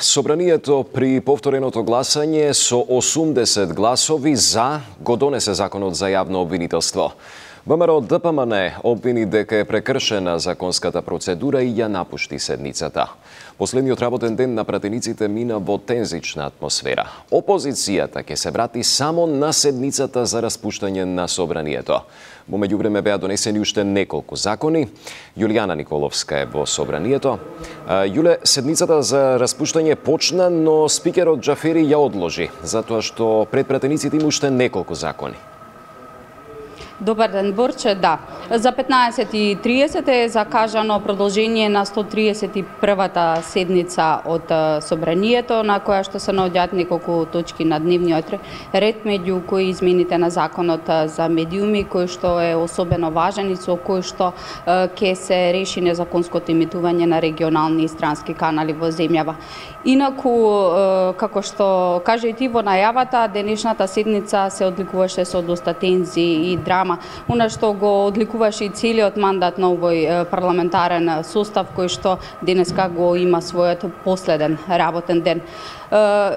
Собранието при повтореното гласање со 80 гласови за го донесе законот за јавно обвинителство. ВМРО ДПМН обвини дека е прекршена законската процедура и ја напушти седницата. Последниот работен ден на пратениците мина во тензична атмосфера. Опозицијата ќе се врати само на седницата за распуштање на собранието. Во меѓувреме беа донесени уште неколку закони. Јулијана Николовска е во собранието. Јуле, седницата за распуштање почна, но спикерот Џафери ја одложи, затоа што пред пратениците има уште неколку закони. Добар ден, Борче, да. За 15:30 е закажано продолжение на 131-та седница од Собранието, на која што се наоѓаат неколку точки на дневниот ред, меѓу кои измените на законот за медиуми, кој што е особено важен и со кој што ќе се реши незаконското имитување на регионални и странски канали во земјава. Инаку, како што кажа и ти во најавата, денешната седница се одликуваше со доста тензии и драма, она што го одликуваше и целиот мандат на овој парламентарен состав, кој што денеска го има својот последен работен ден.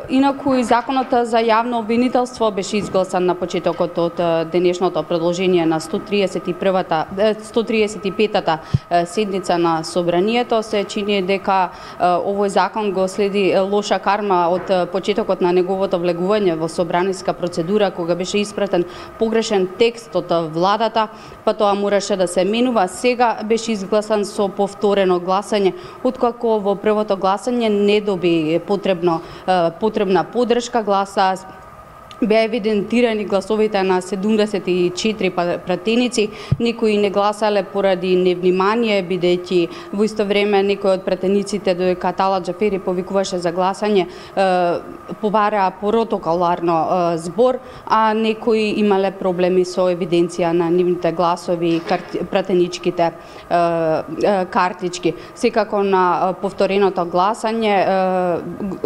Инаку и законот за јавно обвинителство беше изгласан на почетокот од денешното продолжение на 135-та седница на Собранието. Се чини дека овој закон го следи лоша карма од почетокот на неговото влегување во собраниска процедура, кога беше испратен погрешен текст од владата, па тоа мораше да се менува. Сега беше изгласан со повторено гласање, откако во првото гласање не доби потребна поддршка. Гласа беа евидентирани гласовите на 74 пратеници, некои не гласале поради невнимание, бидејќи во исто време некои од пратениците, додека Атала Џафери повикуваше за гласање, побараа протоколарно збор, а некои имале проблеми со евиденција на нивните гласови и пратеничките картички. Секако на повтореното гласање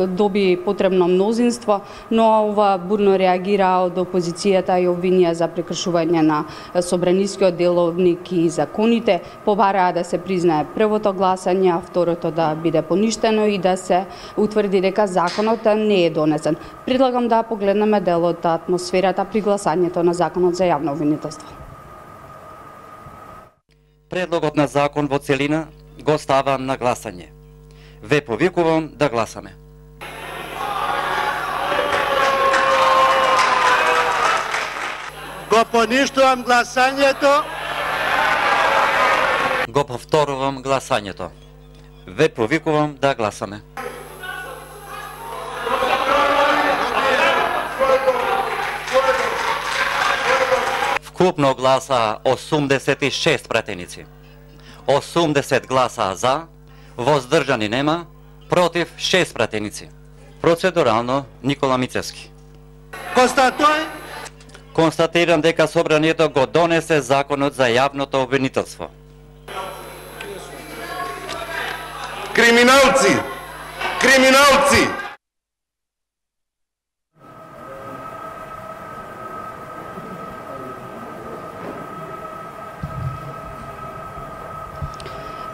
доби потребно мнозинство, но ова бурно реагира од опозицијата и обвинија за прекршување на собранискиот деловник и законите. Побараа да се признае првото гласање, а второто да биде поништено и да се утврди дека законот не е донесен. Предлагам да погледнеме дел од атмосферата при гласањето на законот за јавно обвинителство. Предлогот на закон во целина го ставам на гласање. Ве повикувам да гласаме. Го поништувам гласањето. Го повторувам гласањето. Ве повикувам да гласаме. Вкупно гласа 86 пратеници. 80 гласа за, воздржани нема, против 6 пратеници. Процедурално Никола Мицевски. Констатирам дека Собранието го донесе законот за јавното обвинителство. Криминалци! Криминалци!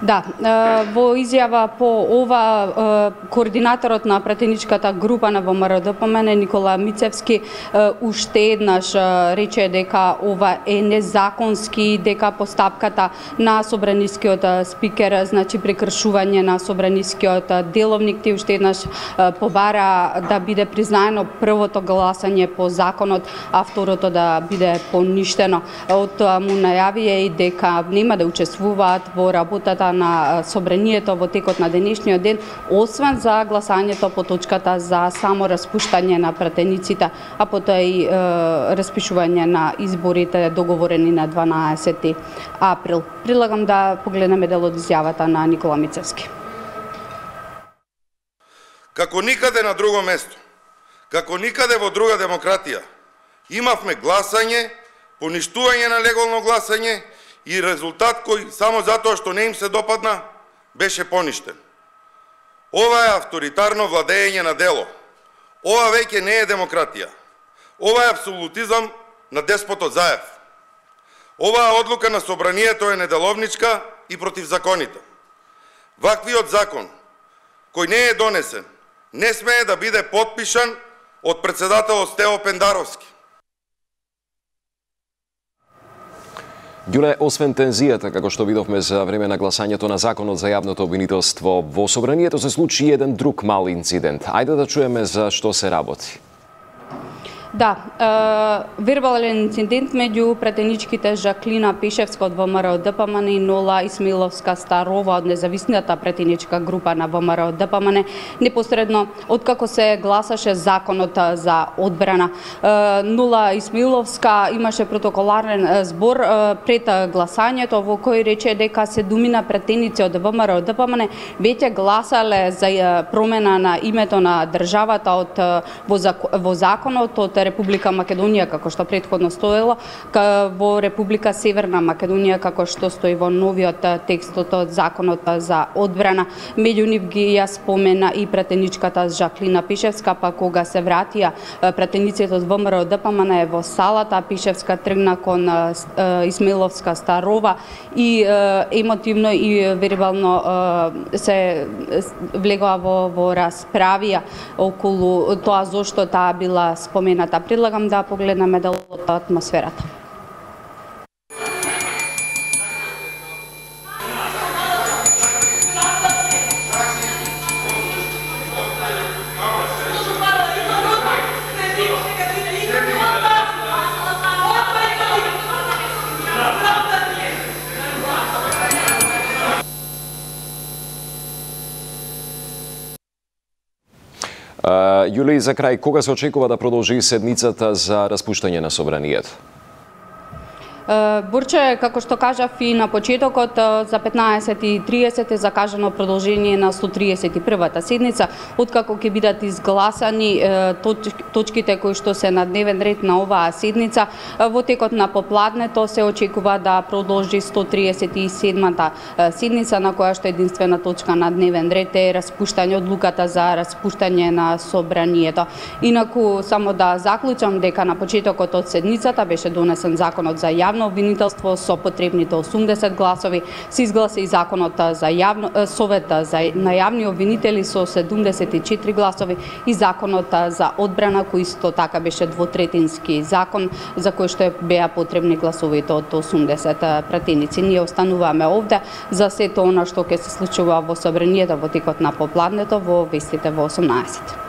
Да, во изјава по ова, координаторот на пратеничката група на ВМРО ДПМН Никола Мицевски уште еднаш рече дека ова е незаконски, дека постапката на собранискиот спикер значи прекршување на собранискиот деловник. Те уште еднаш побара да биде признаено првото гласање по законот, а второто да биде поништено. Од тоа му најавија и дека нема да учествуваат во работата на Собранието во текот на денешниот ден, освен за гласањето по точката за само распуштање на пратениците, а потоа и распишување на изборите договорени на 12 април. Предлагам да погледнеме дел од изјавата на Никола Мицевски. Како никаде на друго место, како никаде во друга демократија, имавме гласање, поништување на легално гласање и резултат кој само затоа што не им се допадна, беше поништен. Ова е авторитарно владење на дело. Ова веќе не е демократија. Ова е апсолутизам на деспотот Заев. Оваа одлука на Собранието е неделовничка и против законите. Ваквиот закон, кој не е донесен, не смее да биде потпишан од председателот Стево Пендаровски. Ѓуле, освен тензијата, како што видовме за време на гласањето на Законот за јавното обвинителство, во Собранието се случи еден друг мал инцидент. Ајде да чуеме за што се работи. Да, вербален инцидент меѓу претеничките Жаклина Пишевска од ВМРО ДПМН и Нола Исмаиловска Старова од независната претеничка група на ВМРО ДПМН, непосредно откако се гласаше законот за одбрана. Нола Исмаиловска имаше протоколарен збор пред гласањето во кој рече дека 7 претеници од ВМРО ДПМН веќе гласале за промена на името на државата во законот од Република Македонија, како што претходно стоело, во Република Северна Македонија, како што стои во новиот текстот од законот за одбрана. Меѓу нив ги ја спомена и претеничката Жаклина Пишевска, па кога се вратија претениците од ВМРО ДПМН во салата, Пишевска тргна кон Исмаиловска Старова и емотивно и вербално се влегоа во расправија околу тоа зошто таа била спомената. Предлагам да погледнеме делот атмосферата. Јули, за крај, кога се очекува да продолжи седницата за распуштање на Собранието? Бурче, како што кажав и на почетокот, за 15:30 е закажано продолжение на 131-та седница, откако ќе бидат изгласани точките кои што се на дневен ред на оваа седница. Во текот на попладнето се очекува да продолжи 137-та седница, на која што единствена точка на дневен ред е распуштање, одлуката за распуштање на Собранието. Инаку, само да заклучам дека на почетокот од седницата беше донесен законот за јавно обвинителство со потребните 80 гласови, се изгласи и законот за совет на јавни обвинители со 74 гласови и законот за одбрана, кој исто така беше двотретински закон, за кој што беа потребни гласовите од 80 пратеници. Ние остануваме овде за сето она што ќе се случува во Собранието во текот на попладнето во вестите во 18.